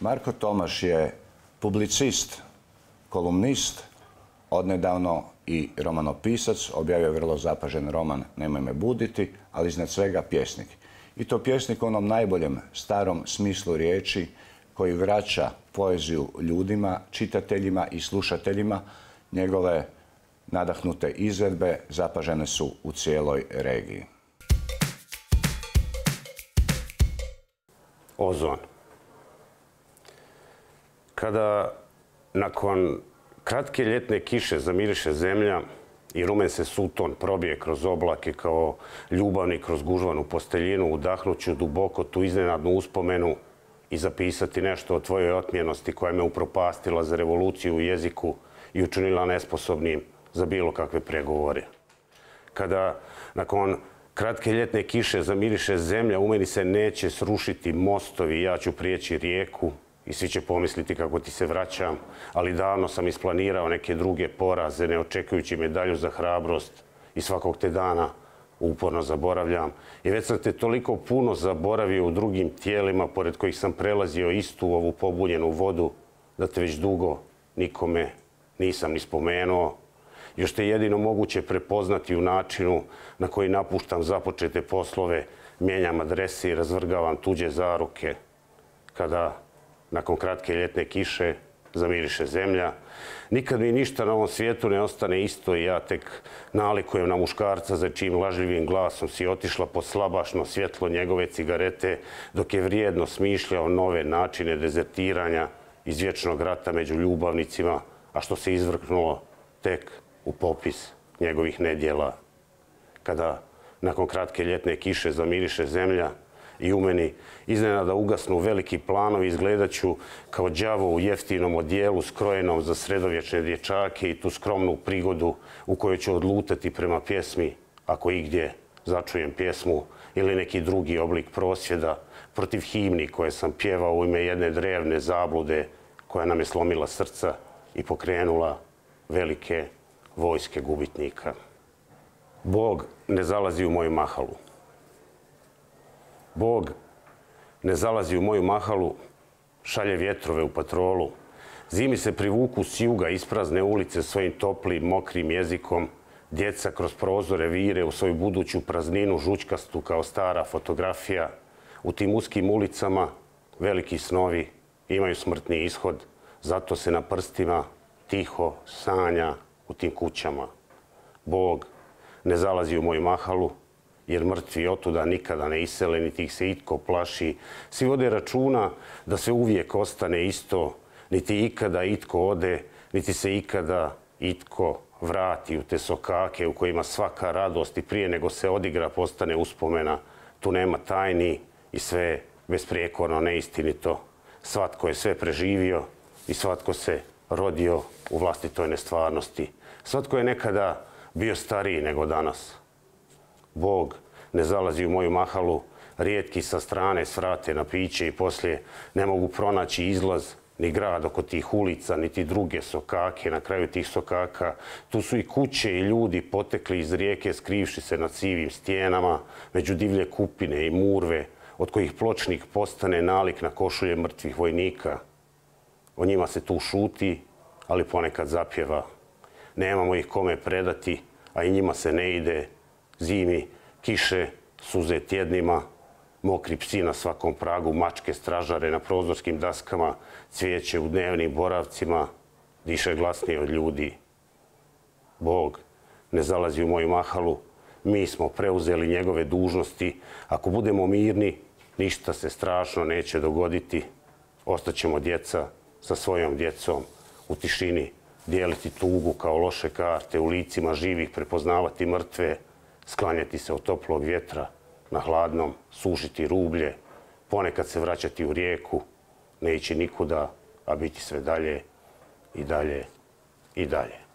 Marko Tomaš je publicist, kolumnist, odnedavno i romanopisac, objavio vrlo zapažen roman Nemoj me buditi, ali iznad svega pjesnik. I to pjesnik u onom najboljem starom smislu riječi koji vraća poeziju ljudima, čitateljima i slušateljima. Njegove nadahnute izvedbe zapažene su u cijeloj regiji. Ozon. Kada nakon kratke ljetne kiše zamiriše zemlja i rumen se suton probije kroz oblake kao ljubavnik kroz gužvanu posteljinu, udahnuću duboko tu iznenadnu uspomenu i zapisati nešto o tvojoj otmjenosti koja me upropastila za revoluciju u jeziku i učinila nesposobnim za bilo kakve pregovore. Kada nakon kratke ljetne kiše zamiriše zemlja, u meni se neće srušiti mostovi, ja ću prijeći rijeku i svi će pomisliti kako ti se vraćam, ali davno sam isplanirao neke druge poraze, ne očekujući medalju za hrabrost i svakog te dana uporno zaboravljam. I već sam te toliko puno zaboravio u drugim tijelima, pored kojih sam prelazio istu ovu pobunjenu vodu, da te već dugo nikome nisam ni spomenuo. Još te jedino moguće prepoznati u načinu na koji napuštam započete poslove, mijenjam adrese i razvrgavam tuđe zaruke. Kada nakon kratke ljetne kiše zamiriše zemlja, nikad mi ništa na ovom svijetu ne ostane isto i ja tek nalikujem na muškarca za čijim lažljivim glasom si otišla pod slabašno svjetlo njegove cigarete, dok je vrijedno smišljao nove načine dezertiranja iz vječnog rata među ljubavnicima, a što se izvrknulo tek u popis njegovih nedjela. Kada nakon kratke ljetne kiše zamiriše zemlja i u meni iznenada ugasnu veliki planovi, izgledat ću kao đavo u jeftinom odijelu skrojenom za sredovječne dječake i tu skromnu prigodu u kojoj ću odlutati prema pjesmi, ako igdje začujem pjesmu ili neki drugi oblik prosvjeda protiv himni koje sam pjevao u ime jedne drevne zablude koja nam je slomila srca i pokrenula velike vojske gubitnika. Bog ne zalazi u moju mahalu. Bog ne zalazi u moju mahalu, šalje vjetrove u patrolu. Zimi se privuku s juga isprazne ulice svojim toplim, mokrim jezikom. Djeca kroz prozore vire u svoju buduću prazninu žučkastu kao stara fotografija. U tim uskim ulicama veliki snovi imaju smrtni ishod, zato se na prstima tiho sanja u tim kućama. Bog ne zalazi u moju mahalu, jer mrtvi otuda nikada ne isele, niti ih se itko plaši. Svi vode računa da se uvijek ostane isto, niti ikada itko ode, niti se ikada itko vrati u te sokake u kojima svaka radost i prije nego se odigra postane uspomena. Tu nema tajni i sve je besprijekorno neistinito. Svatko je sve preživio i svatko se rodio u vlastitoj nestvarnosti. Svatko je nekada bio stariji nego danas. Bog ne zalazi u moju mahalu, rijetki sa strane svrate na piće i poslije ne mogu pronaći izlaz ni grad oko tih ulica, niti druge sokake. Na kraju tih sokaka tu su i kuće i ljudi potekli iz rijeke skrivši se na sivim stijenama, među divlje kupine i murve, od kojih pločnik postane nalik na košulje mrtvih vojnika. O njima se tu šuti, ali ponekad zapjeva. Nemamo ih kome predati, a i njima se ne ide. Zimi, kiše, suze tjednima, mokri psi na svakom pragu, mačke stražare na prozorskim daskama, cvijeće u dnevnim boravcima, diše glasnije od ljudi. Bog ne zalazi u moju mahalu, mi smo preuzeli njegove dužnosti. Ako budemo mirni, ništa se strašno neće dogoditi. Ostaćemo djeca sa svojom djecom u tišini, dijeliti tugu kao loše karte, u licima živih prepoznavati mrtve, sklanjati se od toplog vjetra na hladnom, sušiti rublje, ponekad se vraćati u rijeku, ne ići nikuda, a biti sve dalje i dalje i dalje.